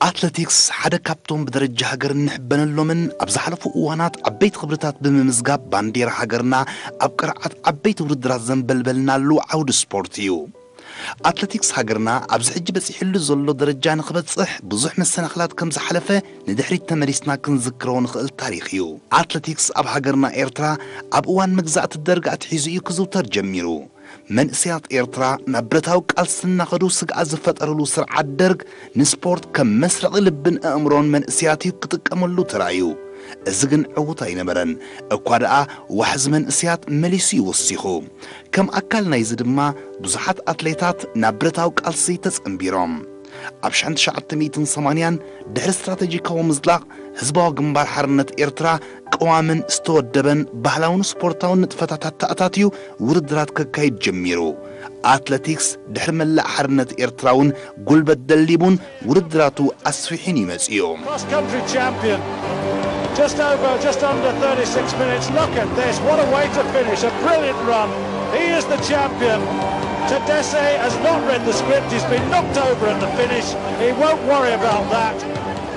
ኣትለቲክስ ሓደ ካብቶም ብደረጃ ሃገር እንሕበነሎምን ኣብ ዝሓለፉ እዋናት ዓበይቲ ክብርታት ብምምዝጋብ ባንዴራ ሃገርና ኣብ ቅርዓት ዓበይቲ ውድድራት ዘንበልበልናሉ ዓውዲ ስፖርት እዩ። ኣትለቲክስ ሃገርና ኣብዚ ሕጂ በፂሕሉ ዘሎ ደረጃ ንክበፅሕ ብዙሕ መሰናኽላት ከም ዝሓለፈ ንድሕሪት ተመሊስና ክንዝክሮ ንኽእል ታሪኽ እዩ። ኣትለቲክስ ኣብ ሃገርና ኤርትራ ኣብ እዋን መግዛእቲ ደርግ ኣትሒዙ እዩ ክዝውተር ጀሚሩ። መንእሰያት ኤርትራ ናብ ብረታዊ ቃልሲ እናኸዱ ስግኣት ዝፈጠርሉ ስርዓት ደርግ ንስፖርት ከም መስረቒ ልብን ኣእምሮን መንእሰያት እዩ ክጥቀመሉ ተራእዩ። እዚ ግን ዕዉት ኣይነበረን። እኳ ደኣ ዋሕዚ መንእሰያት መሊሱ እዩ ወሲኹ። ከም ኣካል ናይዚ ድማ ብዙሓት ኣትሌታት ናብ ብረታዊ ቃልሲ ተጸንቢሮም። ኣብ ሽሕን ትሽዓተ ሚእትን ሰማንያን ድሕሪ ስትራተጂካዊ ምዝላቕ ህዝባዊ ግንባር ሓርነት ኤርትራ ቅዋምን ዝተወደበን ባህላውን ስፖርታውን ንጥፈታት ኣተኣታትዩ ውድድራት ከካይድ ጀሚሩ። ኣትለቲክስ ድሕሪ መላእ ሓርነት ኤርትራ እውን ጉልበት ደሊቡን ውድድራቱ ኣስፊሑን እዩ መጺኡ። Cross country champion. Just over, just under thirty-six minutes. Look at this. What a way to finish. A brilliant run. He is the champion. Tadesse has not read the script. He's been knocked over at the finish. He won't worry about that.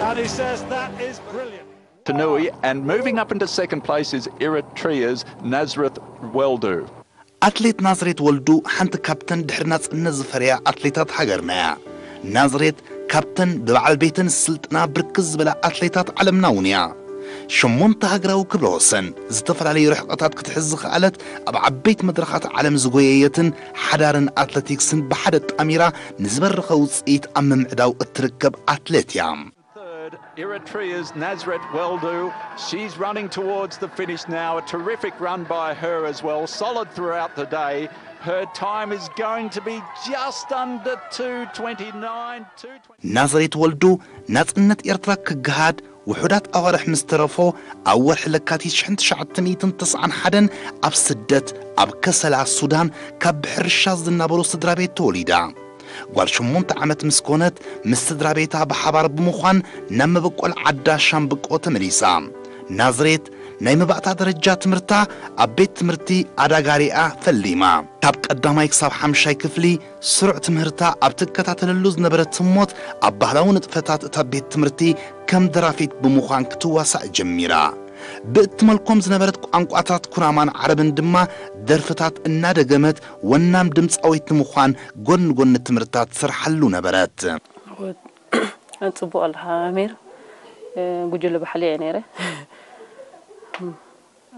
And he says that is brilliant. Tanui, and moving up into second place is Eritrea's Nazareth Weldu. ኣትሌት ናዝሬት ወልዱ ሓንቲ ካብተን ድሕሪ ናጽነት ዝፈርያ ኣትሌታት ሃገርና እያ። ናዝሬት ካብተን ብበዓል ቤተን ዝስልጥና ብርክት ዝበላ ኣትሌታት ዓለምና እውን እያ። ሸሞንተ ሃገራዊ ክብረ ወሰን፣ ዝተፈላለዩ ርሕቐታት ክትሕዝ ዝኸኣለት፣ ኣብ ዓበይቲ መድረኻት ዓለም ዝጎየየትን ሓዳርን ኣትለቲክስን ብሓደ ጣሚራ ንዝበረኸ ውፅኢት ኣብ ምምዕዳው እትርከብ ኣትሌት እያ። Third, Eritrea's Nazareth Weldu. She's running towards the finish now. A terrific run by her as well. Solid throughout the day. Her time is going to be just under two twenty-nine, two twenty. ናዝሬት ወልዱ ናጽነት ኤርትራ ክገሃድ ውሑዳት ኣዋርሕ ምስ ተረፎ ኣብ ወርሒ ለካቲት ሽሕን ትሽዓተ ሚእትን ተስዓን ሓደን ኣብ ስደት ኣብ ከሰላ ሱዳን ካብ ብሕርሻ ዝናበሩ ስድራ ቤት ተወሊዳ። ጓል ሸሞንተ ዓመት ምስ ኮነት ምስ ስድራ ቤታ ብሓባር ብምዃን ናብ መበቆል ዓዳ ሻምብቆ ተመሊሳ። ናዝሬት ናይ መባእታ ደረጃ ትምህርታ ኣብ ቤት ትምህርቲ ኣዳጋሪኣ ፈሊማ። ካብ ቀዳማይ ክሳብ ሓምሻይ ክፍሊ ስሩዕ ትምህርታ ኣብ ትከታተለሉ ዝነበረት ህሞት ኣብ ባህላዊ ንጥፈታት እታ ቤት ትምህርቲ ከም ደራፊት ብምዃን ክትዋሳእ ጀሚራ። ብእትመልኮም ዝነበረት ቋንቋታት ኩናማን ዓረብን ድማ ደርፍታት እናደገመት ወናም ድምፃዊት ንምዃን ጎኒ ጎኒ ትምህርታ ትሰርሓሉ ነበረት። ጽቡቕ ኣለኻ ኣሚር። ጉጅለ ባሕሊ እየ ነይረ።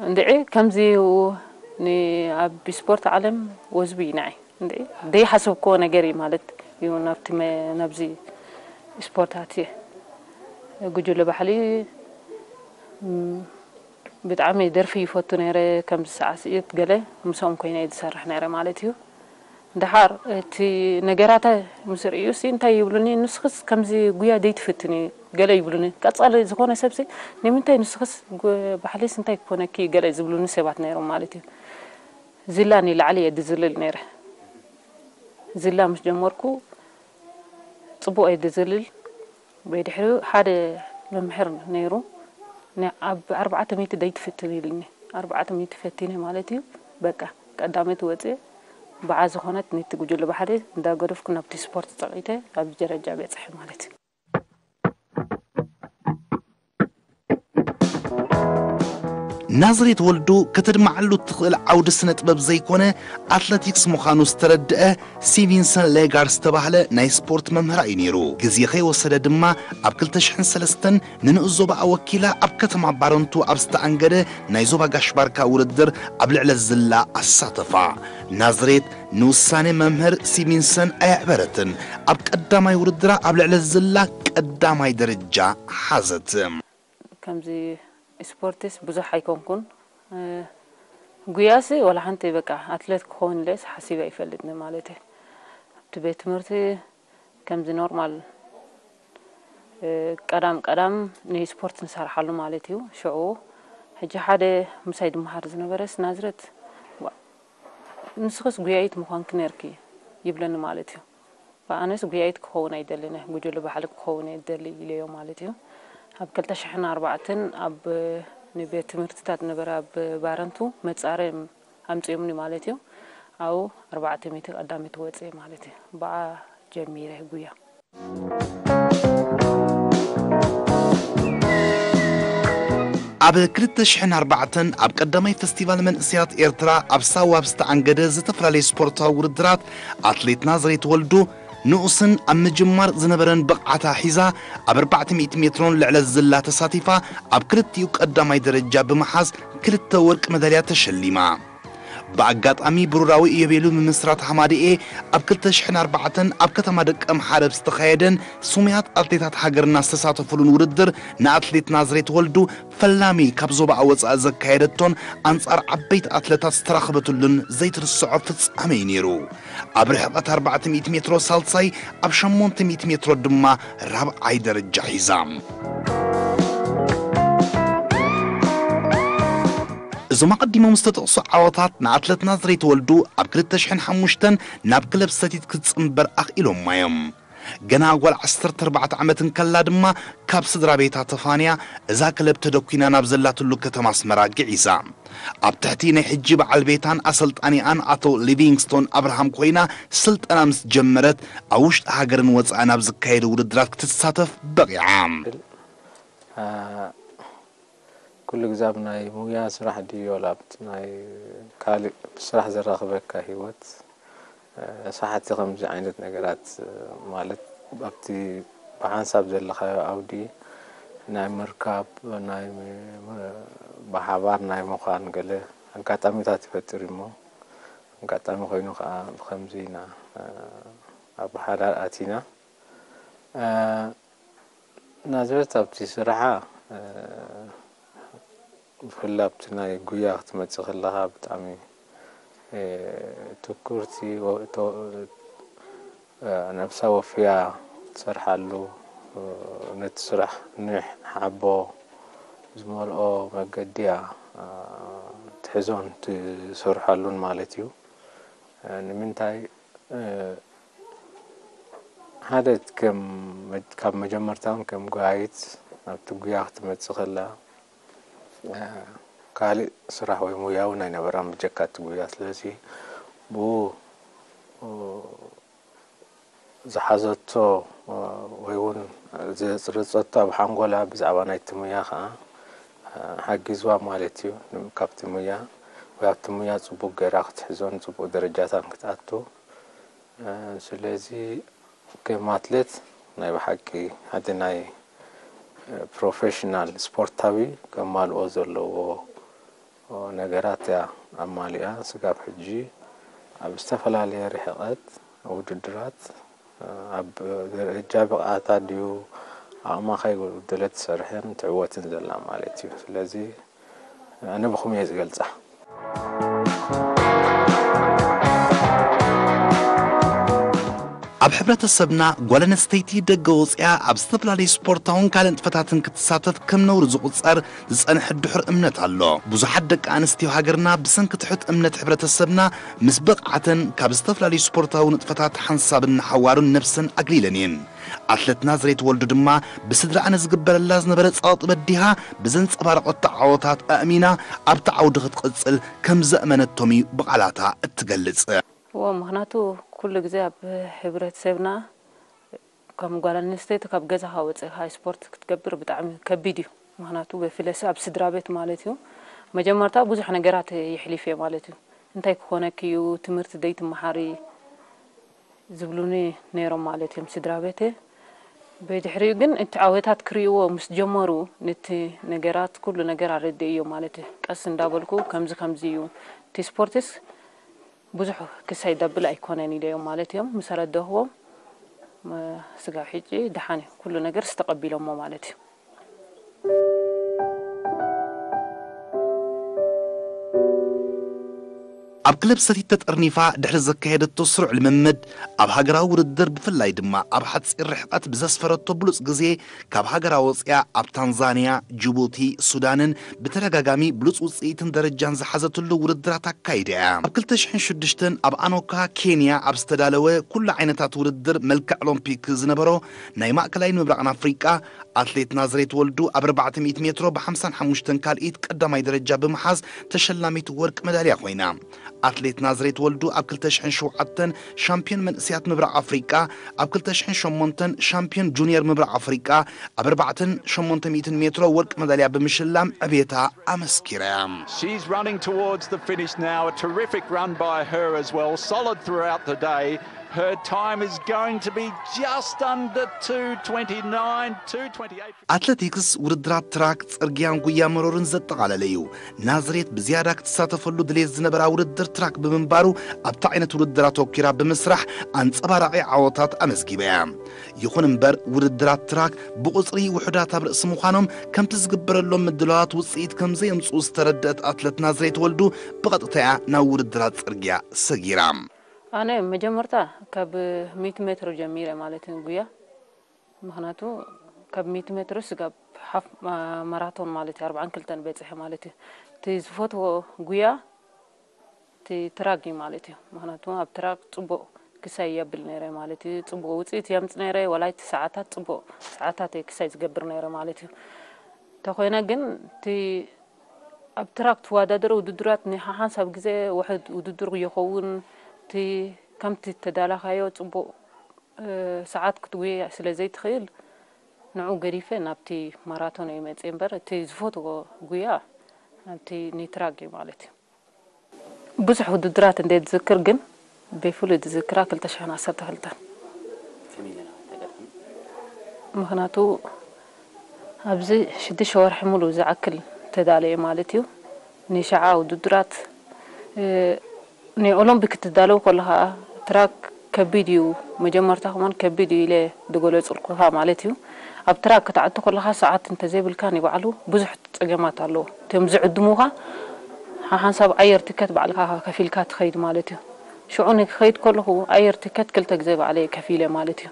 እንድዒ ከምዚ ኣብ ስፖርት ዓለም ወዝቢ እዩ ንዓይ። እንድዒ ዘይሓሰብክዎ ነገር እዩ ማለት እዩ ናብቲ ናብዚ ስፖርት ኣትየ። ጉጅለ ባሕሊ ብጣዕሚ ደርፊ ይፈቱ ነይረ። ከምዚ ሳዕስዒት ገለ ምስኦም ኮይነ እየ ዝሰርሕ ነይረ ማለት እዩ። ደሓር እቲ ነገራተ ምስ ርእዩሲ እንታይ ይብሉኒ፣ ንስኽስ ከምዚ ጉያ ዘይትፍትኒ ገለ ይብሉኒ። ቀጻሊ ዝኾነ ሰብሲ ንምንታይ ንስኽስ ባሕሊስ እንታይ ክኾነኪ ገለ ዝብሉኒ ሰባት ነይሮም ማለት እዩ። ዝላ ንላዕሊ እየ ድዝልል ነይረ። ዝላ ምስ ጀመርኩ ጽቡቕ እየ ድዝልል። ብድሕሪኡ ሓደ መምህር ነይሩ፣ ኣብ ኣርባዕተ ሚእቲ ደይትፍትን ኢሉኒ። ኣርባዕተ ሚእቲ ፈቲነ ማለት እዩ። በቃ ቀዳመይቲ ወፅየ። ብዓ ዝኾነት ነቲ ጉጅለ ባሕሪ እንዳገደፍኩ ናብቲ ስፖርት ፀቒተ ኣብዚ ደረጃ በፅሐ ማለት እዩ። ናዝሬት ወልዱ ከተድምዓሉ እትኽእል ዓውዲ ስነ ጥበብ ዘይኮነ ኣትለቲክስ ምዃኑ ዝተረድአ ሲቪንሰን ሌጋር ዝተባህለ ናይ ስፖርት መምህራ እዩ ነይሩ። ግዜ ከይወሰደ ድማ ኣብ ክልተ ሽሕን ሰለስተን ንንኡስ ዞባኣ ወኪላ ኣብ ከተማ ባረንቱ ኣብ ዝተኣንገደ ናይ ዞባ ጋሽ ባርካ ውድድር ኣብ ልዕለ ዝላ ኣሳተፋ። ናዝሬት ንውሳኔ መምህር ሲቪንሰን ኣየዕበረትን። ኣብ ቀዳማይ ውድድራ ኣብ ልዕለ ዝላ ቀዳማይ ደረጃ ሓዘት። ከምዚ ስፖርትስ ብዙሕ ኣይኮንኩን። ጉያሲ ዋላ ሓንቲ በቃ ኣትሌት ክኸውን ኢለስ ሓሲበ ኣይፈልጥን ማለት እዩ። ኣብቲ ቤት ትምህርቲ ከምዚ ኖርማል ቀዳም ቀዳም ንስፖርት ንሰርሓሉ ማለት እዩ። ሽዑ ሕጂ ሓደ ምሳይ ድመሃር ዝነበረስ ናዝረት ንስኽስ ጉያይት ምዃንኪ ነርኪ ይብለኒ ማለት እዩ። ኣነስ ጉያይት ክኸውን ኣይደልን፣ ጉጅለ ባሕሊ ክኸውን እየ ዝደሊ ኢለዮ ማለት እዩ። ኣብ ክልተ ሽሕን ኣርባዕተን ኣብ ንቤት ትምህርትታት ነበረ ኣብ ባረንቱ መጻረ ኣምጺኦምኒ ማለት እዩ። ኣብኡ ኣርባዕተ ሚእቲ ቀዳመይቲ ወጽየ ማለት እዩ። ብኣ ጀሚረ ጉያ። ኣብ ክልተ ሽሕን ኣርባዕተን ኣብ ቀዳማይ ፈስቲቫል መንእሰያት ኤርትራ ኣብ ሳዋ ኣብ ዝተኣንገደ ዝተፈላለየ ስፖርታዊ ውድድራት፣ ኣትሌት ናዝሬት ወልዱ ንኡስን ኣብ ምጅማር ዝነበረን ብቕዓታ ሒዛ፣ ኣብ ኣርባዕተ ሚእቲ ሜትሮን ልዕለ ዝላ ተሳቲፋ፣ ኣብ ክልቲኡ ቀዳማይ ደረጃ ብምሓዝ ክልተ ወርቂ መዳልያ ተሸሊማ። ብኣጋጣሚ ብሩራዊ ኢዮቤሉ ምምስራት ሃማደኤ ኣብ ክልተ ሽሕን ኣርባዕተን ኣብ ከተማ ደቀምሓረ ኣብ ዝተኻየደን ስሙያት ኣትሌታት ሃገርና ዝተሳተፉሉን ውድድር፣ ንኣትሌት ናዝሬት ወልዱ ፈላሚ ካብ ዞባኣ ወጻኢ ዘካየደቶን ኣንጻር ዓበይቲ ኣትለታት ዝተራኸበትሉን ዘይትርስዖ ፍጻመ እዩ ነይሩ። ኣብ ርሕቐት ኣርባዕተ ሚእቲ ሜትሮ ሳልሳይ፣ ኣብ ሸሞንተ ሚእቲ ሜትሮ ድማ ራብዓይ ደረጃ ሒዛ። እዞም ኣቐዲሞም ዝተጠቕሱ ዓወታት ንኣትለት ናዝሬት ወልዱ ኣብ ክልተ ሽሕን ሓሙሽተን ናብ ክለብ ሰቲት ክትጽንበር ኣኽኢሎማ እዮም። ገና ጓል ዓሰርተ ኣርባዕተ ዓመት እንከላ ድማ ካብ ስድራ ቤታ ተፋንያ፣ እዛ ክለብ ተደኲና ናብ ዘላትሉ ከተማ ኣስመራ ግዒዛ። ኣብ ትሕቲ ናይ ሕጂ በዓል ቤታን ኣሰልጣኒኣን ኣቶ ሊቪንግስቶን ኣብርሃም ኮይና ስልጠና ምስ ጀመረት፣ ኣብ ውሽጢ ሃገርን ወጻእን ኣብ ዝካየዱ ውድድራት ክትሳተፍ በቒዓ። ብል፣ አ፣ ኩሉ ግዜ ኣብ ናይ ሙያ ስራሕ ድዩ፣ ወላ ኣብቲ ናይ ካልእ ብስራሕ ዘራኽበካ ህይወት፣ እ፣ ሰሓቲ ከምዚ ዓይነት ነገራት፣ እ፣ ማለት ኣብቲ ብሓንሳብ ዘለኻዮ ዓውዲ ናይ ምርካብ፣ ናይ ም-፣ ም-፣ ብሓባር ናይ ምዃን ገለ ኣጋጣሚታት ይፈጥር እሞ፣ ኣጋጣሚ ኮይኑ ከዓ ብኸምዚ ኢና፣ እ፣ ኣብ ሓዳር ኣቲና። እ፣ ናዝሬት ኣብቲ ስርሓ፣ እ፣ ብፍላይ ኣብቲ ናይ ጉያ ክትመጽእ ከለኻ ብጣዕሚ፣ እ፣ ትኩርቲ ወ-፣ ተ-፣ እ፣ ነብሳ ወፍያ ትሰርሓሉ፣ እ፣ ነቲ ስራሕ ንሕ-፣ ሓቦ ዝመልኦ መገዲ እያ፣ እ፣ ትሕዞን ትሰርሓሉን ማለት እዩ። እ፣ ንምንታይ፣ እ፣ ሓደ ከም መ-፣ ካብ መጀመርታ እውን ከም ጎያይት ናብቲ ጉያ ክትመጽእ ከላ፣ እ፣ ካልእ ስራሕ ወይ ሙያ እውን ኣይነበራን ብጀካ እቲ ጉያ። ስለዚ ብኡ፣ እ፣ ዝሓዘቶ፣ እ፣ ወይ እውን ዘጽረጸቶ ኣብ ሓንጎላ ብዛዕባ ናይቲ ሙያ ከዓ፣ እ፣ ሓጊዝዋ ማለት እዩ። ን-፣ ካብቲ ሙያ ወይ ኣብቲ ሙያ ጽቡቅ ገይራ ክትሕዞን ጽቡቅ ደረጃታን ክትኣቱ። እ፣ ስለዚ ከም ኣትሌት ናይ ብሓቂ ሓደ ናይ፣ እ፣ ፕሮፌሽናል ስፖርታዊ ከማልኦ ዘለዎ ነገራት እያ ኣማሊኣ። ስጋብ ሕጂ ኣብ ዝተፈላለየ ርሕቐት ውድድራት፣ እ፣ ኣብ ደረጃ ብቕዓታ ድዩ ኣቕማ ከይጎደለት ትሰርሕን ትዕወትን ዘላ ማለት እዩ። ስለዚ ኣነ ብኹም እየ ዝገልጻ። ኣብ ሕብረተሰብና ጓል ኣንስተይቲ ደገ ወፂኣ ኣብ ዝተፈላለዩ ስፖርታውን ካልእ ንጥፈታትን ክትሳተፍ ከም ነውሪ ዝቑፀር ዝፀንሐ ድሑር እምነት ኣሎ። ብዙሓት ደቂ ኣንስትዮ ሃገርና ብሰንኪ ትሑት እምነት ሕብረተሰብና ምስ በቕዓተን ካብ ዝተፈላለዩ ስፖርታዊ ንጥፈታት ሓንሳብን ንሓዋሩን ነብሰን ኣግሊለን እየን። ኣትለት ናዝሬት ወልዱ ድማ ብስድራኣ ንዝግበረላ ዝነበረ ጸቕጢ በዲሃ ብዘንጸባረቐቶ ዓወታት ኣእሚና ኣብቲ ዓውዲ ክትቕጽል ከም ዘእመነቶም እዩ ብቓላታ እትገልጽ። እዎ፣ ምኽንያቱ ኩሉ ግዜ ኣብ ሕብረተሰብና ከም ጓል ኣንስተይቲ ካብ ገዛኻ ወፂእኻ ስፖርት ክትገብር ብጣዕሚ ከቢድ እዩ። ምኽንያቱ በፍለሲ ኣብ ስድራ ቤት ማለት እዩ መጀመርታ ብዙሕ ነገራት የሕሊፍ እየ ማለት እዩ። እንታይ ክኾነኪ እዩ፣ ትምህርቲ ደይትመሃሪ ዝብሉኒ ነይሮም ማለት እዮም ስድራ ቤተይ። ብድሕሪኡ ግን እቲ ዓወታት ክርእይዎ ምስ ጀመሩ ነቲ ነገራት ኩሉ ነገር ኣረድእዮ ማለት እዩ። ቀስ እንዳበልኩ ከምዚ ከምዚ እዩ እቲ ስፖርትስ ብዙሕ ክሳይ ደብል ኣይኮነን ኢለዮም ማለት እዮም። ምስ ኣረዳእክዎም ስጋብ ሕጂ ደሓን እዩ ኩሉ ነገር ዝተቐቢሎሞ ማለት እዩ። ኣብ ክለብ ሰቲት ተጠርኒፋ ድሕሪ ዘካየደቶ ስሩዕ ልምምድ ኣብ ሃገራዊ ውድድር ብፍላይ ድማ ኣብ ሓፂር ርሕቐት ብዘስፈረቶ ብሉፅ ግዜ ካብ ሃገራ ወፂኣ ኣብ ታንዛንያ፣ ጅቡቲ፣ ሱዳንን ብተደጋጋሚ ብሉፅ ውፅኢትን ደረጃን ዝሓዘትሉ ውድድራት ኣካይዳ እያ። ኣብ ክልተ ሽሕን ሽዱሽተን ኣብ ኣኖካ ኬንያ ኣብ ዝተዳለወ ኩሉ ዓይነታት ውድድር መልክዕ ኦሎምፒክ ዝነበሮ ናይ ማእከላይን ምብራቕን ኣፍሪቃ ኣትሌት ናዝሬት ወልዱ ኣብ ኣርባዕተ ሚእቲ ሜትሮ ብ ሓምሳን ሓሙሽተን ካልኢት ቀዳማይ ደረጃ ብምሓዝ ተሸላሚት ወርቂ መዳልያ ኮይና። ኣትሌት ናዝሬት ወልዱ ኣብ ክልተ ሽሕን ሸውዓተን ሻምፒዮን መንእሰያት ምብራቕ ኣፍሪቃ፣ ኣብ ክልተ ሽሕን ሸሞንተን ሻምፒዮን ጁኒየር ምብራቕ ኣፍሪቃ፣ ኣብ ኣርባዕተን ሸሞንተ ሚእትን ሜትሮ ወርቂ መዳልያ ብምሽላም ዕቤታ ኣመስኪራ እያ። She's running towards the finish now. A terrific run by her as well. Solid throughout the day. Her time is going to be just under two twenty-nine, two twenty-eight. ኣትለቲክስ ውድድራት ትራክ፣ ጽርግያን ጉያ መሮርን ዘጠቓለለ እዩ። ናዝሬት ብዝያዳ ክትሳተፈሉ ድሌት ዝነበራ ውድድር ትራክ ብምንባሩ ኣብቲ ዓይነት ውድድር ኣተኲራ ብምስራሕ ኣንጸባራቒ ዓወታት ኣመዝጊባ እያ። ይኹን እምበር ውድድራት ትራክ ብቑጽሪ ውሑዳት ኣብ ርእሲ ምዃኖም ከምቲ ዝግበረሎም ምድላዋት ውጽኢት ከም ዘየምጽኡ ዝተረድአት ኣትለት ናዝሬት ወልዱ ብቐጥታ እያ ናብ ውድድራት ጽርግያ ሰጊራ። ኣነ መጀመርታ ካብ ሚእቲ ሜትሮ ጀሚረ ማለት እዩ ጉያ። ምኽንያቱ ካብ ሚእቲ ሜትሮ ስጋብ ሓፍ ማራቶን ማለት እዩ ኣርባዓን ክልተን በጺሐ ማለት እዩ። እቲ ዝፈትዎ ጉያ እቲ ትራክ እዩ ማለት እዩ። ምኽንያቱ ኣብ ትራክ ጽቡቕ ክሳይ የብል ነይረ ማለት እዩ። ጽቡቕ ውጽኢት የምጽእ ነይረ። ዋላ እቲ ሰዓታት ጽቡቕ ሰዓታት እየ ክሳይ ዝገብር ነይረ ማለት እዩ። እንተኾይነ ግን እቲ ኣብ ትራክ ትወዳደሮ ውድድራት ንሓሓንሳብ ግዜ ውሕድ ውድድር ይኸውን። እቲ ከምቲ ተዳላኻዮ ጽቡቕ ሰዓት ክትጉየ ስለ ዘይትኽእል ንዑ ገዲፈ ናብቲ ማራቶን እየ መፅእ እምበር እቲ ዝፈትዎ ጉያ ናብቲ ኒትራግ እዩ ማለት እዩ። ብዙሕ ውድድራት እንደ ዝዝክር ግን ብፍሉይ ዝዝክራ ክልተ ሽሕን ዓሰርተ ክልተን ምክንያቱ ኣብዚ ሽዱሽተ ወርሒ ሙሉ ዝኣክል ተዳለየ ማለት እዩ። ንሸዓ ውድድራት ንኦሎምፒክ ክትዳለው ከለኻ ትራክ ከቢድ እዩ፣ መጀመርታ ከማን ከቢድ እዩ ኢለ ዝገለፅልኩኻ ማለት እዩ። ኣብ ትራክ ክትኣቱ ከለኻ ሰዓት እንተዘይብልካ ንባዕሉ ብዙሕ ፀገማት ኣለዎ። እቶም ዝዕድሙኻ ሓሓንሳብ ኣየር ትከት ባዕልካ ከፊልካ ትኸይድ ማለት እዩ። ሽዑ ንክኸይድ ከለኹ ኣየር ትከት ክልተ ግዜ ባዕለይ ከፊለ ማለት እዩ።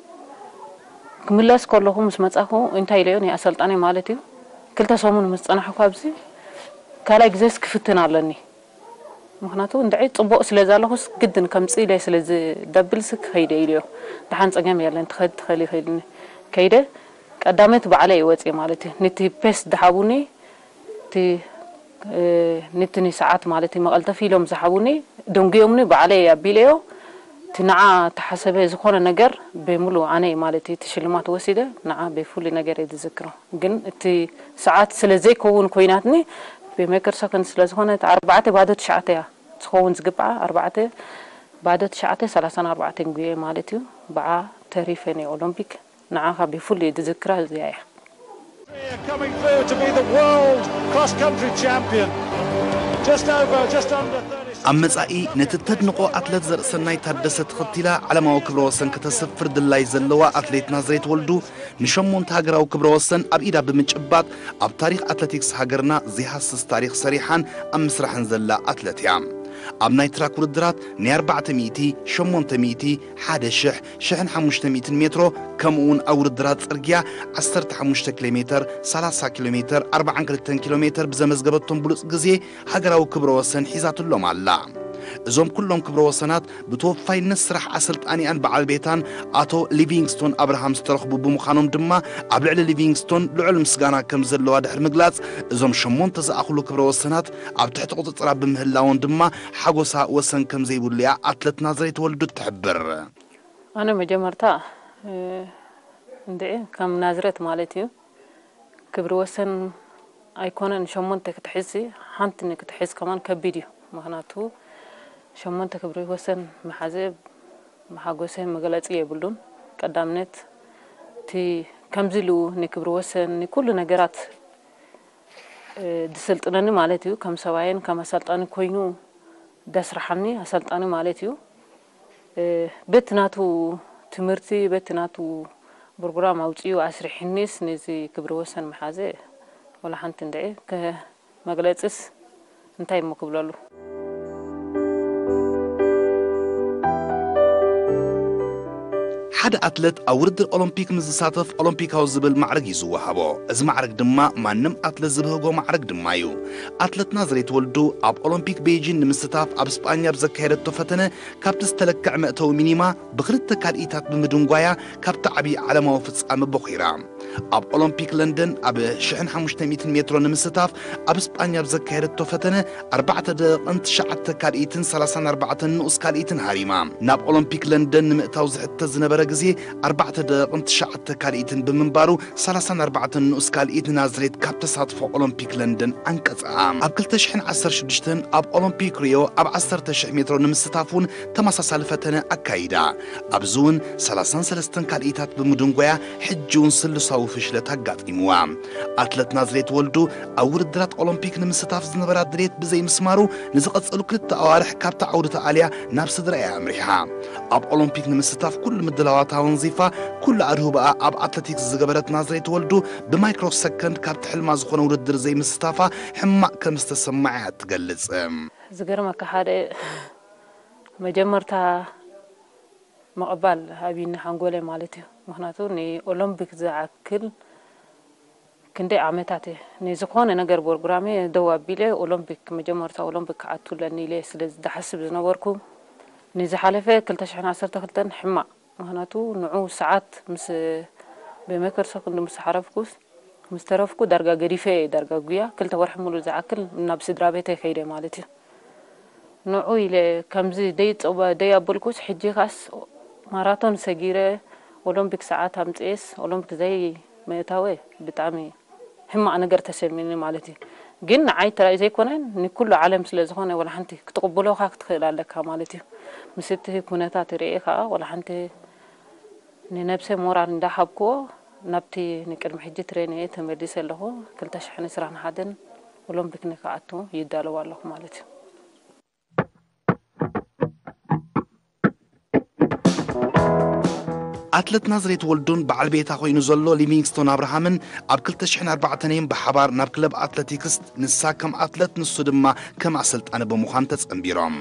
ክምለስ ከለኹ ምስ መጻኹ እንታይ ኢለዮ ናይ ኣሰልጣኒ ማለት እዩ ክልተ ሰሙን ምስ ጸናሕኩ ኣብዚ ካልኣይ ግዜስ ክፍትን ኣለኒ። ምኽንያቱ እንድዒ ጽቡቕ ስለ ዘለኹስ ግድን ከምጽእ ኢለ ስለ ዝደብልስ ክኸይደ ኢለዮ። ደሓን ጸገም የለን ትኸድ ትኸል ይኸይድኒ። ከይደ ቀዳመት ባዕለይ እወጽእ ማለት እዩ። ነቲ ፔስ ድሓቡኒ እቲ ንትኒ ሰዓት ማለት እዩ መቐልጠፊ ኢሎም ዝሓቡኒ ደንጉዮምኒ ባዕለይ ኣቢለዮ እቲ ንዓ ተሓሰበ ዝኾነ ነገር ብሙሉ ኣነ ማለት እዩ እቲ ሽልማት ወሲደ ንዓ ብፍሉይ ነገር እየ ዝዝክሮ ግን እቲ ሰዓት ስለ ዘይከውን ኮይናትኒ ብሜክር ሰከንድ ስለ ዝኾነ ኣርባዕተ ባዶ ትሽዓተ እያ ዝኸውን ዝግብዓ ኣርባዕተ ባዶ ትሽዓተ ሰላሳን ኣርባዕተን ጉየ ማለት እዩ ብዓ ተሪፈ ናይ ኦሎምፒክ ንዓኻ ብፍሉይ ዝዝክራ እዚኣ እያ። Coming through to be the world cross country champion. Just over, just under thirty. ኣብ መጻኢ ነቲ ተድንቖ ኣትለት ዘርእሰናይ ታደሰ ተኸቲላ ዓለማዊ ክብረ ወሰን ከተሰፍር ድላይ ዘለዋ ኣትሌት ናዝሬት ወልዱ ንሸሞንተ ሃገራዊ ክብረ ወሰን ኣብ ኢዳ ብምጭባጥ ኣብ ታሪኽ ኣትለቲክስ ሃገርና ዘይሃስስ ታሪኽ ሰሪሓን ኣብ ምስራሕን ዘላ ኣትለት እያ። ኣብ ናይ ትራክ ውድድራት ናይ ኣርባዕተ ሚእቲ፣ ሸሞንተ ሚእቲ፣ ሓደ ሽሕ፣ ሽሕን ሓሙሽተ ሚእትን ሜትሮ ከምኡ እውን ኣብ ውድድራት ጽርግያ ዓሰርተ ሓሙሽተ ኪሎ ሜተር፣ ሰላሳ ኪሎ ሜተር፣ ኣርባዓን ክልተን ኪሎ ሜተር ብዘመዝገበቶም ብሉጽ ግዜ ሃገራዊ ክብረ ወሰን ሒዛትሎም ኣላ። እዞም ኩሎም ክብረ ወሰናት ብተወፋይነት ስራሕ ኣሰልጣኒኣን በዓል ቤታን ኣቶ ሊቪንግስቶን ኣብርሃም ዝተረኽቡ ብምዃኖም ድማ ኣብ ልዕሊ ሊቪንግስቶን ልዑል ምስጋና ከም ዘለዋ ድሕሪ ምግላጽ እዞም ሸሞንተ ዝኣኽሉ ክብረ ወሰናት ኣብ ትሕቲ ቁጽጽራ ብምህላዎም ድማ ሓጎሳ ወሰን ከም ዘይብሉ እያ ኣትለት ናዝሬት ወልዱ እትሕብር። ኣነ መጀመርታ እንድዒ ከም ናዝሬት ማለት እዩ ክብሪ ወሰን ኣይኮነን ሸሞንተ ክትሕዝሲ ሓንቲ ንክትሕዝ ከማን ከቢድ እዩ። ምኽንያቱ ሸሞንተ ክብሪ ወሰን ምሓዘ ብሓጎሰ መግለፂ የብሉን። ቀዳምነት እቲ ከምዚ ኢሉ ንክብሪ ወሰን ንኩሉ ነገራት ዝስልጥነኒ ማለት እዩ። ከም ሰብኣየን ከም ኣሰልጣኒ ኮይኑ ደስርሓኒ ኣሰልጣኒ ማለት እዩ። በቲ ናቱ ትምህርቲ በቲ ናቱ ብርጉራም ኣውፅኡ ኣስሪሕኒስ ነዚ ክብሪ ወሰን ምሓዘ ወላ ሓንቲ እንድዒ መግለፅስ እንታይ እሞ ክብለሉ። ሓደ ኣትለት ኣብ ውድድር ኦሎምፒክ ምስ ዝሳተፍ ኦሎምፒካዊ ዝብል ማዕርግ እዩ ዝወሃቦ። እዚ ማዕርግ ድማ ማንም ኣትለት ዝብህጎ ማዕርግ ድማ እዩ። ኣትለት ናዝሬት ወልዱ ኣብ ኦሎምፒክ ቤይጂን ንምስታፍ ኣብ ስጳኛ ብዘካየደቶ ፈተነ ካብቲ ዝተለክዐ መእተዊ ሚኒማ ብኽልተ ካልኢታት ብምድንጓያ ካብቲ ዓብዪ ዓለማዊ ፍጻመ ቦኺራ። ኣብ ኦሎምፒክ ለንደን ኣብ ሽሕን ሓሙሽተ ሚእትን ሜትሮ ንምስታፍ ኣብ ስጳኛ ኣብ ዘካየደቶ ፈተነ ኣርባዕተ ደቂቕን ትሽዓተ ካልኢትን ሰላሳን ኣርባዕተን ንኡስ ካልኢትን ሃሪማ። ናብ ኦሎምፒክ ለንደን ንምእታው ዝሕተት ዝነበረ ግዜ ኣርባዕተ ደቂቕን ትሽዓተ ካልኢትን ብምንባሩ፣ ሰላሳን ኣርባዕተን ንኡስ ካልኢት ንናዝሬት ካብ ተሳትፎ ኦሎምፒክ ለንደን ኣንቀጽኣ። ኣብ ክልተ ሽሕን ዓሰርተ ሽዱሽተን ኣብ ኦሎምፒክ ሪዮ ኣብ ዓሰርተ ሽሕ ሜትሮ ንምስታፍ እውን ተመሳሳሊ ፈተነ ኣካይዳ። ኣብዚ እውን ሰላሳን ሰለስተን ካልኢታት ብምድንጓያ ሕጂ እውን ስሉሳዊ ፍሽለት ኣጋጢምዋ። ኣትለት ናዝሬት ወልዱ ኣብ ውድድራት ኦሎምፒክ ንምስታፍ ዝነበራ ድሌት ብዘይምስማሩ፣ ንዝቐጸሉ ክልተ ኣዋርሕ ካብታ ዓውዲ ተኣልያ ናብ ስድራ እያ ኣምሪሓ። ኣብ ኦሎምፒክ ንምስታፍ ኩሉ ምድላዋታ ኣወንዚፋ፣ ኩሉ ኣድህቦኣ ኣብ ኣትለቲክስ ዝገበረት ናዝሬት ወልዱ፣ ብማይክሮ ሰከንድ ካብቲ ሕልማ ዝኾነ ውድድር ዘይምስታፋ ሕማቕ ከም ዝተሰምዓ እያ ትገልጽ። ዝገርመካ፣ ሓደ መጀመርታ ምቕባል ኣብይኒ ሓንጎለይ ማለት እዩ። ምኽንያቱ ንኦሎምፒክ ዝኣክል ክንደይ ዓመታት እየ ንዝኾነ ነገር ፕሮግራመ ደው ኣቢለ፣ ኦሎምፒክ፣ መጀመርታ ኦሎምፒክ ክኣቱ ኣለኒ ኢለ ስለ ዝሓስብ ዝነበርኩ፣ ንዝሓለፈ ክልተ ሽሕን ዓሰርተ ክልተን ሕማቕ። ምኽንያቱ ንዑ ሰዓት ምስ፣ ብመይክሮ ሰከንድ ምስ ሓረፍኩስ፣ ምስ ተረፍኩ ዳርጋ ገዲፈ እየ፣ ዳርጋ ጉያ ክልተ ወርሒ ሙሉእ ዝኣክል ናብ ስድራ ቤተይ ከይደ ማለት እዩ። ንዑ ኢለ ከምዚ ደይ ጸባ-፣ ደይ ኣበልኩስ፣ ሕጂ ካስ ማራቶን ሰጊረ፣ ኦሎምፒክ ሰዓት ኣምጽኤስ፣ ኦሎምፒክ ዘይ ምእታወ ብጣዕሚ ሕማቕ ነገር ተሰሚኒ ማለት እዩ። ግን ንዓይ ጥራይ ዘይኮነ፣ ንኩሉ ዓለም ስለ ዝኾነ፣ ወላ ሓንቲ ክትቕብሎኻ ክትኽእል ኣለካ ማለት እዩ። ምስ እቲ ኩነታት ርእየ ከኣ፣ ወላ ሓንቲ ንነብሰ ሞራል እንዳሃብክዎ፣ ናብቲ ንቅድሚ ሕጂ ትሬንየ ተመሊሰ ኣለኹ። ክልተ ሽሕን ዕስራን ሓደን ኦሎምፒክ ንክኣቱ ይዳለዉ ኣለኹ ማለት እዩ። ኣትለት ናዝሬት ወልዱን በዓል ቤታ ኮይኑ ዘሎ ሊቪንግስቶን ኣብርሃምን ኣብ ክልተ ሽሕን ኣርባዕተን እዮም ብሓባር ናብ ክለብ ኣትለቲክስ፣ ንሳ ከም ኣትለት ንሱ ድማ ከም ኣሰልጣኒ ብምዃን ተጸንቢሮም።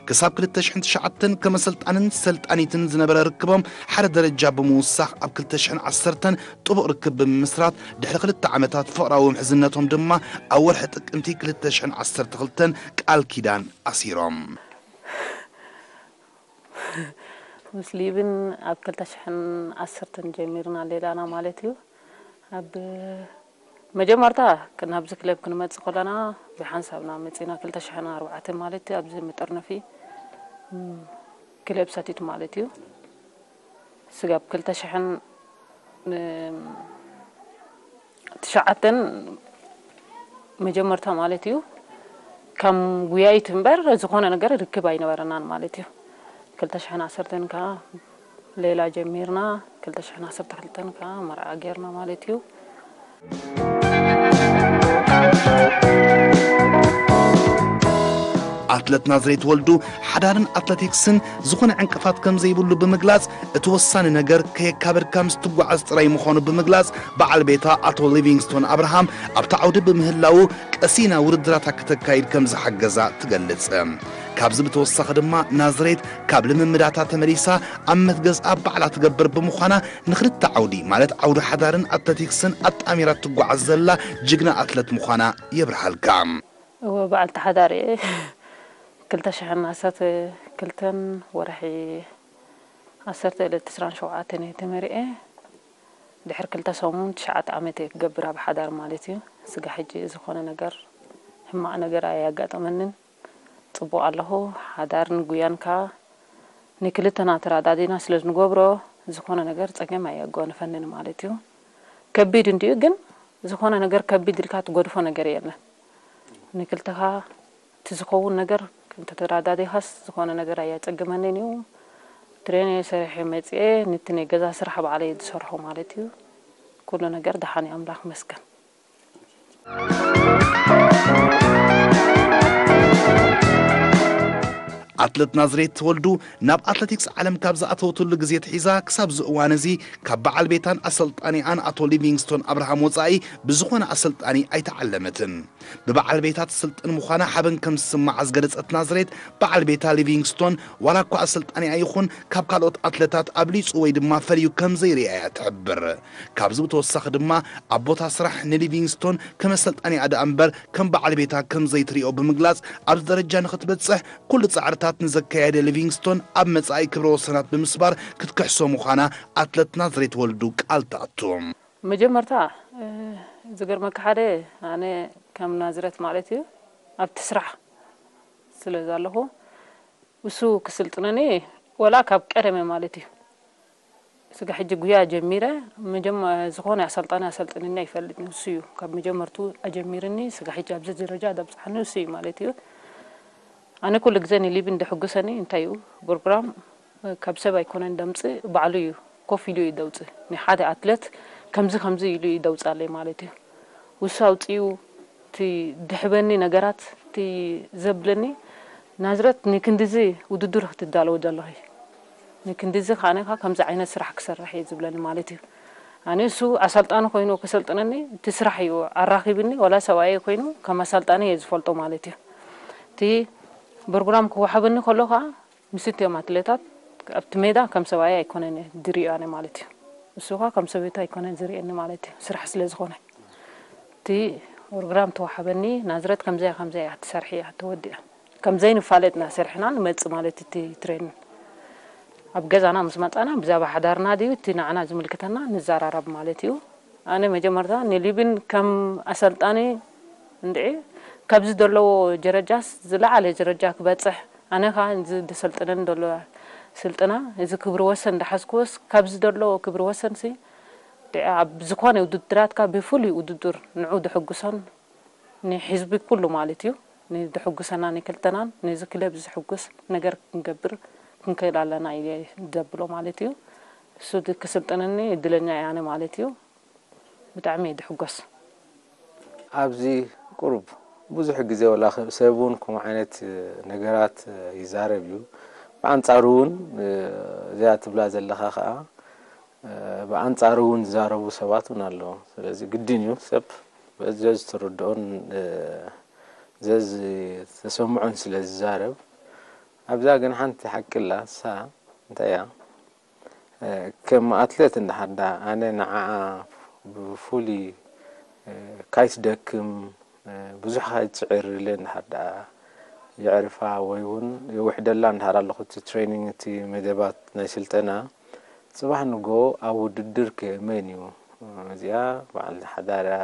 ክሳብ ክልተ ሽሕን ትሽዓተን ከም ኣሰልጣንን ሰልጣኒትን ዝነበረ ርክቦም ሓደ ደረጃ ብምውሳኽ፣ ኣብ ክልተ ሽሕን ዓሰርተን ጥቡቕ ርክብ ብምምስራት፣ ድሕሪ ክልተ ዓመታት ፍቕራዊ ምሕዝነቶም ድማ ኣብ ወርሒ ጥቅምቲ ክልተ ሽሕን ዓሰርተ ክልተን ቃል ኪዳን ኣሲሮም። ምስ ሊብን ኣብ ክልተ ሽሕን ዓሰርተን ጀሚርና ሌላና ማለት እዩ። ኣብ መጀመርታ ክ-፣ ናብዚ ክለብ ክንመጽእ ከለና ብሓንሳብና መጺና፣ ክልተ ሽሕን ኣርባዕተን ማለት እዩ። ኣብዚ መጠርነፊ፣ ም፣ ክለብ ሰቲት ማለት እዩ። ስጋብ ክልተ ሽሕን ትሽዓተን መጀመርታ ማለት እዩ፣ ከም ጉያይት እምበር ዝኾነ ነገር ርክብ ኣይነበረናን ማለት እዩ። ክልተ ሽሕን ዓሰርተን ከኣ ሌላ ጀሚርና፣ ክልተ ሽሕን ዓሰርተ ክልተን ከኣ መርዓ ጌርና ማለት እዩ። ኣትለት ናዝሬት ወልዱ፣ ሓዳርን ኣትለቲክስን ዝኾነ ዕንቅፋት ከም ዘይብሉ ብምግላጽ፣ እቲ ወሳኒ ነገር ከየካበድካ ምስ ትጓዓዝ ጥራይ ምዃኑ ብምግላጽ፣ በዓል ቤታ ኣቶ ሊቪንግስቶን ኣብርሃም ኣብቲ ዓውዲ ብምህላዉ፣ ቀሲና ውድድራታ ከተካይድ ከም ዝሓገዛ ትገልጽ። ካብዚ ብተወሳኺ ድማ፣ ናዝሬት ካብ ልምምዳታ ተመሊሳ ኣብ መትገዝኣ ባዕላ ትገብር ብምዃና፣ ንኽልተ ዓውዲ፣ ማለት ዓውዲ ሓዳርን ኣትለቲክስን ኣጣሚራ ትጓዓዝ ዘላ ጅግና ኣትለት ምዃና የብርሃልካ። እወ፣ በዓልቲ ሓዳር እየ። ክልተ ሽሕን ዓሰርተ ክልተን ወርሒ ዓሰርተ ዕለት ዕስራን ሸውዓተን እየ ተመሪዐ። ድሕሪ ክልተ ሰሙን ትሽዓተ ዓመት እየ ክገብር ኣብ ሓዳር ማለት እዩ። ስጋ ሕጂ ዝኾነ ነገር፣ ሕማቕ ነገር ኣየጋጠመንን። ጽቡቕ ኣለኹ። ሓዳርን ጉያን ከኣ ንክልተና ተረዳዲና ስለ ዝንገብሮ፣ ዝኾነ ነገር ጸገም ኣየጓንፈንን ማለት እዩ። ከቢድ እንድዩ፣ ግን ዝኾነ ነገር ከቢድ ኢልካ ትገድፎ ነገር የለን። ንክልተኻ እቲ ዝኸውን ነገር እንተተረዳዲኻስ፣ ዝኾነ ነገር ኣየጸግመንን እዩ። ትሬን እየ ሰሪሐ መጺኤ፣ ንቲ ናይ ገዛ ስራሕ ባዕለይ ዝሰርሖ ማለት እዩ። ኩሉ ነገር ደሓን እዩ፣ ኣምላኽ ይመስገን። ኣትለት ናዝሬት ወልዱ ናብ ኣትለቲክስ ዓለም ካብ ዝኣተወትሉ ግዜ ኣትሒዛ ክሳብ እዚ እዋን እዚ፣ ካብ በዓል ቤታን ኣሰልጣኒኣን ኣቶ ሊቪንግስቶን ኣብርሃም ወጻኢ ብዝኾነ ኣሰልጣኒ ኣይተዓለመትን። ብበዓል ቤታ ትስልጥን ምዃና ሓበን ከም ዝስምዓ ዝገለጸት ናዝሬት፣ በዓል ቤታ ሊቪንግስቶን ዋላ እኳ ኣሰልጣኒኣ ይኹን፣ ካብ ካልኦት ኣትለታት ኣብሊጹ ወይ ድማ ፈልዩ ከም ዘይርእያ እያ ትሕብር። ካብዚ ብተወሳኺ ድማ፣ ኣብ ቦታ ስራሕ ንሊቪንግስቶን ከም ኣሰልጣኒኣ ደኣ እምበር ከም በዓል ቤታ ከም ዘይትሪኦ ብምግላጽ፣ ኣብዚ ደረጃ ንኽትበጽሕ ኩሉ ጻዕርታት ንዘካየደ ሊቪንግስቶን ኣብ መጻኢ ክብረ ወሰናት ብምስባር ክትክሕሶ ምዃና ኣትለት ናዝሬት ወልዱ ቃል ትኣቱ። መጀመርታ ዝገርመካ ሓደ ኣነ ከም ናዝረት ማለት እዩ ኣብቲ ስራሕ ስለ ዘለኹ እሱ ክስልጥነኒ ወላ ካብ ቀደመ ማለት እዩ። ስጋ ሕጂ ጉያ ጀሚረ ዝኾነ ኣሰልጣኒ ኣሰልጥንኒ ኣይፈልጥን። እሱ እዩ ካብ መጀመርቱ ኣጀሚርኒ ስጋ ሕጂ ኣብዚ ደረጃ ዘብፅሓኒ እሱ እዩ ማለት እዩ። ኣነ ኩሉ ግዜ ንሊብን ደሕጉሰኒ እንታይ እዩ ፕሮግራም ካብ ሰብ ኣይኮነን ደምፅእ ባዕሉ እዩ ኮፍ ኢሉ እዩ ደውፅእ። ንሓደ ኣትለት ከምዚ ከምዚ ኢሉ እዩ ደውፃለይ ማለት እዩ። ውሱ ኣውፅኡ እቲ ድሕበኒ ነገራት እቲ ዘብለኒ ናዝረት ንክንድዚ ውድድር ክትዳለዎ ዘለኺ ንክንድዚ ከዓነካ ከምዚ ዓይነት ስራሕ ክሰርሕ እየ ዝብለኒ ማለት እዩ። ኣነ እሱ ኣሰልጣኒ ኮይኑ ክሰልጥነኒ እቲ ስራሕ እዩ ኣራኺብኒ ወላ ሰብኣየ ኮይኑ ከም ኣሰልጣኒ እየ ዝፈልጦ ማለት እዩ። እቲ ፕሮግራም ክወሃበኒ ከሎ ከዓ ምስቲ እዮም ኣትሌታት ኣብቲ ሜዳ ከም ሰብኣይ ኣይኮነን ዝሪኦ ኣነ ማለት እዩ። እሱ ኸዓ ከም ሰበይቱ ኣይኮነን ዝሪእኒ ማለት እዩ። ስራሕ ስለ ዝኾነ እቲ ፕሮግራም ተዋሓበኒ ናዝረት ከምዚያ ከምዚያ እያ ትሰርሒ እያ ተወዲኣ ከምዘይ ንፋለጥና ሰርሕና ንመጽእ ማለት እቲ ትሬን ኣብ ገዛና ምስ መጻና ብዛባ ሓዳርና ድዩ እቲ ንዓና ዝምልክተና ንዘራረብ ማለት እዩ። ኣነ መጀመርታ ንሊብን ከም ኣሰልጣኒ እንድዒ ካብዚ ዘለዎ ጀረጃስ ዝለዓለ ጀረጃ ክበፅሕ ኣነ ከዓ እዚ ዝሰልጥነን ዘሎ ስልጥና እዚ ክብሪ ወሰን እንዳሓዝክዎስ ካብዚ ዘሎ ክብሪ ወሰን ሲ ኣብ ዝኾነ ውድድራትካ ብፍሉይ ውድድር ንዑ ድሕጉሶን ንሕዝቢ ኩሉ ማለት እዩ ንድሕጉሰና ንክልተናን ነዚ ክለብ ዝሕጉስ ነገር ክንገብር ክንክእል ኣለና እየ ዘብሎ ማለት እዩ። እሱ ክስልጥነኒ እድለኛ እየ ኣነ ማለት እዩ። ብጣዕሚ እየ ድሕጎስ። ኣብዚ ቁሩብ ብዙሕ ግዜ ወላ ሰብ እውን ከምኡ ዓይነት ነገራት ይዛረብ እዩ። ብኣንጻሩ እውን እዚኣ ትብላ ዘለኻ ከዓ ብኣንጻሩ እውን ዝዛረቡ ሰባት እውን ኣለዉ። ስለዚ ግድን እዩ ሰብ ዘዝተረድኦን ዘዝተሰምዖን ስለ ዝዛረብ። ኣብዛ ግን ሓንቲ ሓቂ ኣላ። እሳ እንታይ እያ? ከም ኣትሌት እንድሓር ደኣ ኣነ ንዓኣ ብፍሉይ ካይትደክም ብዙሕ ካይትጽዕር ኢለ እንድሓር ደኣ የዕርፋ ወይ እውን የውሕደላ እንድሓር ኣለኹ እቲ ትሬኒንግ እቲ መደባት ናይ ስልጠና ጽባሕ ንጎ ኣብ ውድድር ከ መን እዩ እዚኣ በዓል ሓዳር እያ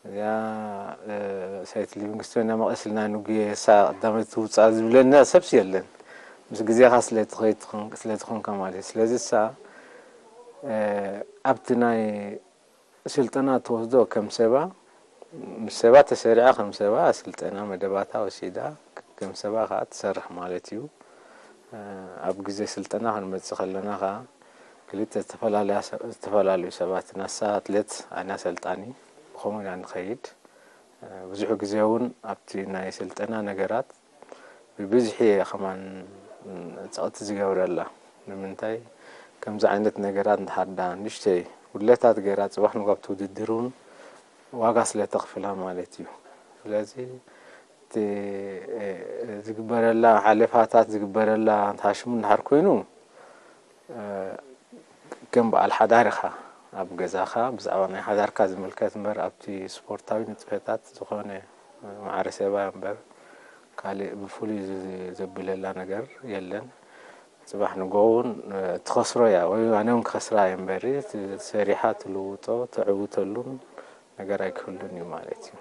እዚኣ ሰይቲ ሊቪንግስቶን እያ መቐስልና ንጉየ እሳ ቀዳመይቲ ትውፃእ ዝብለና ሰብሲ የለን ምስ ግዜኻ ስለትኾንካ ማለት እዩ ስለዚ እሳ ኣብቲ ናይ ስልጠና ትወስዶ ከም ሰባ ምስ ሰባ ተሰሪዓ ከም ሰባ ስልጠና መደባታ ወሲዳ ከም ሰባ ከዓ ትሰርሕ ማለት እዩ ኣብ ግዜ ስልጠና ክንመፅእ ከለና ከዓ ክልተ ዝተፈላለዩ ሰባት ናሳ ኣትሌት ኣነ ኣሰልጣኒ ብኸምኡ ኢና ንኸይድ ብዙሕ ግዜ እውን ኣብቲ ናይ ስልጠና ነገራት ብብዝሒ እየ ከማን ፀቕቲ ዝገብረላ ንምንታይ ከምዚ ዓይነት ነገራት እንተሓዳ ንሽተይ ጉድለታት ገይራ ፅባሕ ንጋብቲ ውድድር እውን ዋጋ ስለ ተኽፍላ ማለት እዩ ስለዚ እቲ ዝግበረላ ሓለፋታት ዝግበረላ እንተሃሽሙ እንድሓር ኮይኑ ከም በዓል ሓዳር ኢኻ ኣብ ገዛኻ ብዛዕባ ናይ ሓዳርካ ዝምልከት እምበር ኣብቲ ስፖርታዊ ንጥፈታት ዝኾነ ማዕረ ሰባ እምበር ካልእ ብፍሉይ ዘብለላ ነገር የለን ጽባሕ ንጎ እውን ትኸስሮ እያ ወይ ኣነ እውን ክኸስራ እየ እምበሪ ሰሪሓ ትልውጦ ተዕውተሉን ነገር ኣይክህሉን እዩ ማለት እዩ።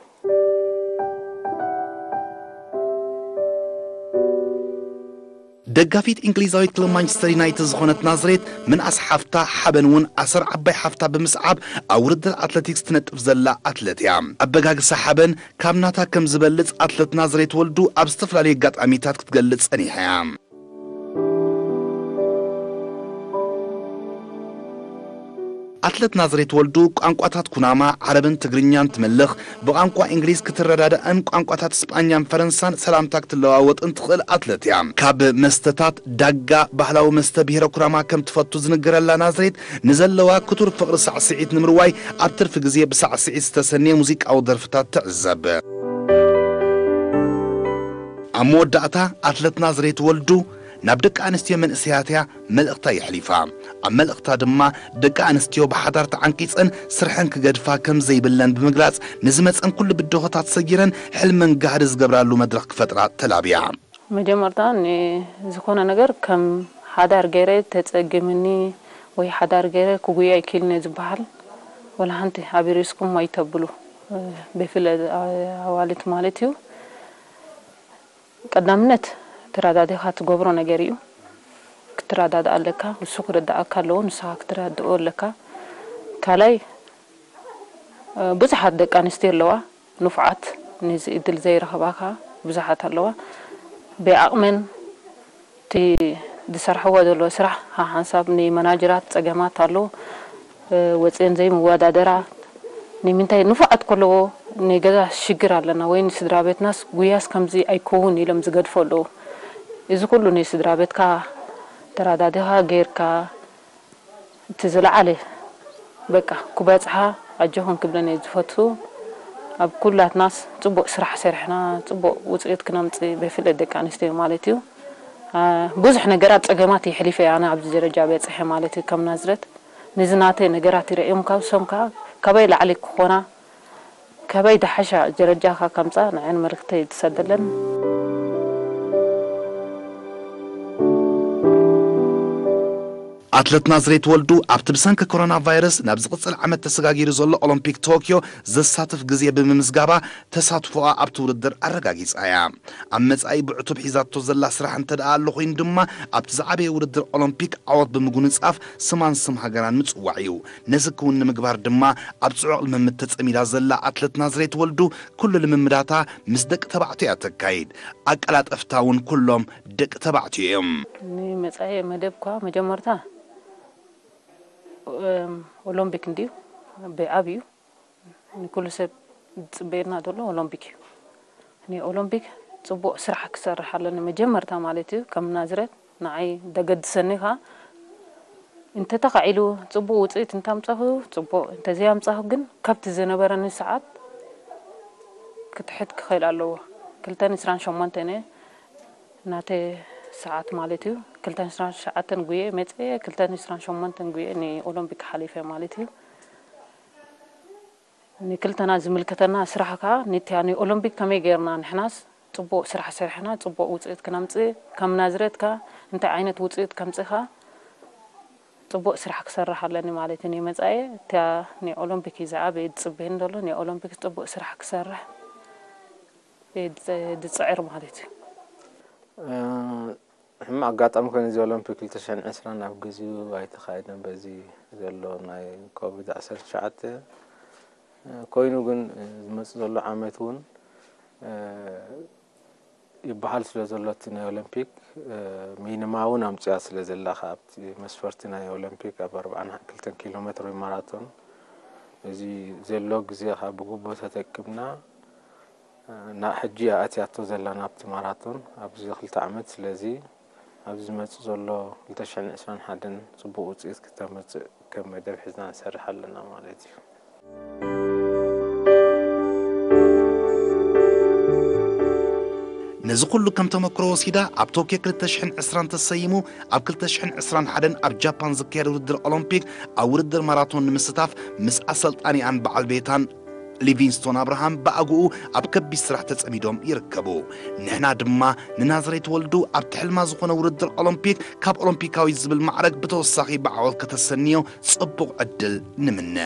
ደጋፊት እንግሊዛዊት ክለብ ማንቸስተር ዩናይትድ ዝኾነት ናዝሬት ምንኣስ ሓፍታ ሓበን እውን ኣሰር ዓባይ ሓፍታ ብምስዓብ ኣብ ውድድር ኣትለቲክስ ትነጥፍ ዘላ ኣትለት እያ። ኣበጋግሳ ሓበን ካብ ናታ ከም ዝበልጽ ኣትለት ናዝሬት ወልዱ ኣብ ዝተፈላለዩ ኣጋጣሚታት ክትገልጽ ጸኒሓ እያ። ኣትለት ናዝሬት ወልዱ ቋንቋታት ኩናማ፣ ዓረብን ትግርኛን ትምልኽ፣ ብቋንቋ እንግሊዝ ክትረዳዳእን ቋንቋታት ስጳኛን ፈረንሳን ሰላምታ ክትለዋወጥን ትኽእል ኣትለት እያ። ካብ መስተታት ዳጋ ባህላዊ መስተ ብሄረ ኩናማ ከም ትፈቱ ዝንገረላ ናዝሬት ንዘለዋ ክቱር ፍቕሪ ሳዕስዒት ንምርዋይ ኣብ ትርፊ ግዜ ብሳዕስዒት ዝተሰነየ ሙዚቃዊ ደርፍታት ትዕዘብ። ኣብ መወዳእታ ኣትለት ናዝሬት ወልዱ ናብ ደቂ ኣንስትዮ መንእሰያት እያ መልእኽታ የሕሊፋ። ኣብ መልእኽታ ድማ ደቂ ኣንስትዮ ብሓዳር ተዓንቂጸን ስርሐን ክገድፋ ከም ዘይብለን ብምግላጽ ንዝመጸን ኩሉ ብድሆታት ሰጊረን ሕልመን ጋህዲ ዝገብራሉ መድረኽ ክፈጥራ ተላብያ። መጀመርታ ንዝኾነ ነገር ከም ሓዳር ገይረ ተጸግምኒ ወይ ሓዳር ገይረ ክጉያ ኣይክእልን እየ ዝበሃል ወላ ሓንቲ ኣቢሪስኩም ኣይተብሉ። ብፍለ ኣዋልድ ማለት እዩ። ቀዳምነት ተረዳዲኻ ትገብሮ ነገር እዩ። ክትረዳድኣ ኣለካ፣ ንሱ ክርድኣካ ኣለዎ፣ ንስኻ ክትረድኦ ኣለካ። ካልኣይ፣ ብዙሓት ደቂ ኣንስትዮ ኣለዋ፣ ንፉዓት፣ ነዚ እድል ዘይረኸባ ከኣ ብዙሓት ኣለዋ። ብዓቕመን እቲ ዝሰርሕዎ ዘለዎ ስራሕ ሓንሳብ ንመናጀራት ጸገማት ኣሎ፣ ወጺኤን ዘይምወዳደራ። ንምንታይ ንፉዓት ከለዎ ንገዛ ሽግር ኣለና ወይ ንስድራ ቤትናስ ጉያስ ከምዚ ኣይከውን ኢሎም ዝገድፎ ኣለዉ። እዚ ኩሉ ንስድራ ቤትካ ተረዳዲኻ ጌርካ እቲ ዝለዓለ በቃ ክበጽሓ ኣጆኹን ክብለን እየ ዝፈቱ። ኣብ ኩላትናስ ጽቡቕ ስራሕ ሰሪሕና ጽቡቕ ውጽኢት ክነምጽእ ብፍላይ ደቂ ኣንስትዮ ማለት እዩ። ብዙሕ ነገራት ጸገማት የሕሊፈ እየ ኣነ ኣብዚ ደረጃ በጽሐ ማለት እዩ። ከም ናዝረት ንዝናተ ነገራት ይረእዮም ካብ ሶም ከዓ ካበይ ላዕሊ ክኾና ካበይ ደሓሻ ደረጃ ከምፃ ንዐን መልክተይ ትሰደለን። ኣትለት ናዝሬት ወልዱ ኣብቲ ብሰንኪ ኮሮና ቫይረስ ናብ ዝቕጽል ዓመት ተሰጋጊሩ ዘሎ ኦሎምፒክ ቶኪዮ ዘሳትፍ ግዜ ብምምዝጋባ ተሳትፎኣ ኣብቲ ውድድር ኣረጋጊጻ እያ። ኣብ መጻኢ ብዕቱብ ሒዛቶ ዘላ ስራሕ እንተ ደኣ ኣሎ ኮይኑ ድማ ኣብቲ ዝዓበየ ውድድር ኦሎምፒክ ዓወት ብምጉንጻፍ ስማን ስም ሃገራን ምጽዋዕ እዩ። ነዚ ክውን ንምግባር ድማ ኣብ ጽዑቕ ልምምድ ተጸሚዳ ዘላ ኣትለት ናዝሬት ወልዱ ኩሉ ልምምዳታ ምስ ደቂ ተባዕትዮ እያ ተካይድ። ኣቀላጠፍታ እውን ኩሎም ደቂ ተባዕትዮ እዮም። ንመጻኢ መደብኳ መጀመርታ ኦሎምፒክ እንድዩ ብዓብዩ ንኩሉ ሰብ ዝጽበየና ዘሎ ኦሎምፒክ እዩ። ንኦሎምፒክ ጽቡቕ ስራሕ ክሰርሕ ኣለኒ መጀመርታ ማለት እዩ። ከም ናዝረት ንዓይ ደገድሰኒ ኸኣ እንተተኻዒሉ ጽቡቕ ውጽኢት እንታምጻኹ ጽቡቕ፣ እንተዘይኣምጻኹ ግን ካብቲ ዝነበረኒ ሰዓት ክትሕት ክኽእል ኣለዎ። ክልተን ዕስራን ሸሞንተን እየ ናተ ሰዓት ማለት እዩ። ክልተን ዕስራን ትሽዓተን ጉየ መጽየ፣ ክልተን ዕስራን ሸሞንተን ጉየ ንኦሎምፒክ ሓሊፈ ማለት እዩ። ንክልተና ዝምልከተና ስራሕ ከዓ ንቲያ ንኦሎምፒክ ከመይ ገይርና ንሕናስ ጽቡቕ ስራሕ ሰሪሕና ጽቡቕ ውፅኢት ክነምፅእ ከም ናዝሬት ከዓ እንታይ ዓይነት ውፅኢት ከምፅእ ከዓ ጽቡቕ ስራሕ ክሰርሕ ኣለኒ ማለት እዩ። ንመፃኢ እቲያ ንኦሎምፒክ እዩ ዝዓበየ ዝፅበየኒ ዘሎ። ንኦሎምፒክ ጽቡቕ ስራሕ ክሰርሕ እየ ዝፅዕር ማለት እዩ። ሕማቕ ኣጋጣሚ ኮይኑ እዚ ኦሎምፒክ ክልተ ሽሕን ዕስራን ኣብ ግዚኡ ኣይተኻየደን በዚ ዘሎ ናይ ኮቪድ ዓሰርተ ትሽዓተ ኮይኑ ግን ዝመፅእ ዘሎ ዓመት እውን ይበሃል ስለ ዘሎ እቲ ናይ ኦሎምፒክ ሚኒማ እውን ኣምፅያ ስለ ዘላ ኣብቲ መስፈርቲ ናይ ኦሎምፒክ ኣብ ኣርባዓን ክልተን ኪሎ ሜትር ወይ ማራቶን እዚ ዘሎ ግዜ ከዓ ብግቡእ ተጠቂምና ናብ ሕጂ እያ ኣትያቶ ዘላ ናብቲ ማራቶን ኣብዚ ክልተ ዓመት። ስለዚ ኣብዚ ዝመፅእ ዘሎ ክልተ ሽሕን ዕስራን ሓደን ፅቡቕ ውፅኢት ክተምፅእ ከም መደብ ሒዝና ንሰርሕ ኣለና ማለት እዩ። ነዚ ኩሉ ከም ተመክሮ ወሲዳ ኣብ ቶኪዮ ክልተ ሽሕን ዕስራን ተሰይሙ ኣብ ክልተ ሽሕን ዕስራን ሓደን ኣብ ጃፓን ዝካየድ ውድድር ኦሎምፒክ ኣብ ውድድር ማራቶን ንምስታፍ ምስ ኣሰልጣኒኣን በዓል ቤታን ሊቪንግስቶን ኣብርሃም ብኣግኡ ኣብ ከቢድ ስራሕ ተጸሚዶም ይርከቡ። ንሕና ድማ ንናዝሬት ወልዱ ኣብቲ ሕልማ ዝኾነ ውድድር ኦሎምፒክ ካብ ኦሎምፒካዊት ዝብል ማዕረግ ብተወሳኺ ብዓወት ከተሰንዮ ጽቡቕ ዕድል ንምነ።